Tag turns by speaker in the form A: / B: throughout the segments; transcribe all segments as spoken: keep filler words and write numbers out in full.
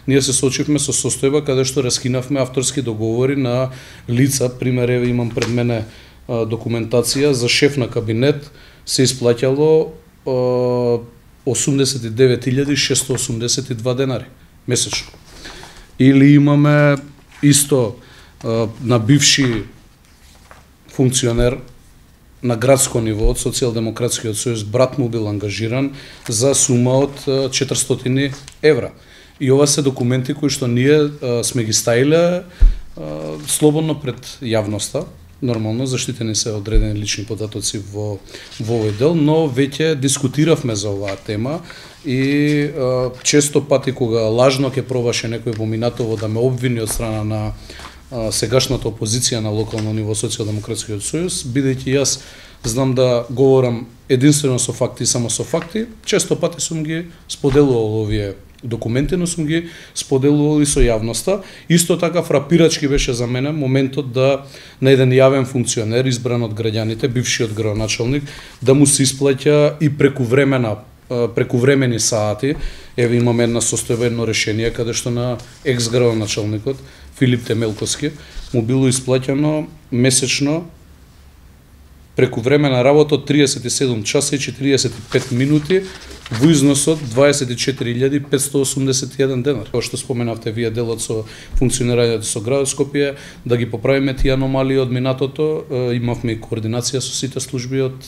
A: ние се соочивме со состојба каде што раскинавме авторски договори на лица, пример еве имам пред мене документација за шеф на кабинет се исплаќало осумдесет и девет илјади шестоста осумдесет и два денари месечно. Или имаме исто на бивши функционер на градско ниво од Социјалдемократскиот сојуз брат му бил ангажиран за сума од четиристотини евра. И ова се документи кои што ние сме ги стаиле слободно пред јавноста. Нормално заштитени се одредени лични податоци во во овој дел, но веќе дискутиравме за оваа тема и а, често пати кога лажно ќе пробаше некој во минатово да ме обвини од страна на а, сегашната опозиција на локално ниво Социјалдемократскиот сојуз, бидејќи јас знам да говорам единствено со факти и само со факти, често пати сум ги споделувал овие документи, но сум ги споделувал и со јавноста. Исто така фрапирачки беше за мене моментот да на еден јавен функционер избран од граѓаните, бившиот градоначалник, да му се исплаќа и прекувремена прекувремени сати. Еве имаме една состојба, едно решение каде што на екс градоначалникот Филип Темелковски му било исплаќано месечно прекувремена работа од триесет и седум часа и четириесет и пет минути во износ од дваесет и четири илјади петстотини осумдесет и еден денар. Како што споменавте вие делот со функционирањето со градот Скопје, да ги поправиме тие аномалии од минатото, имавме и координација со сите служби од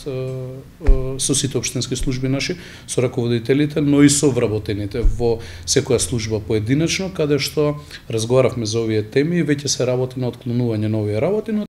A: со сите општински служби наши, со раководителите, но и со вработените во секоја служба поединечно, каде што разговаравме за овие теми и веќе се работи на отклонување на овие работи, но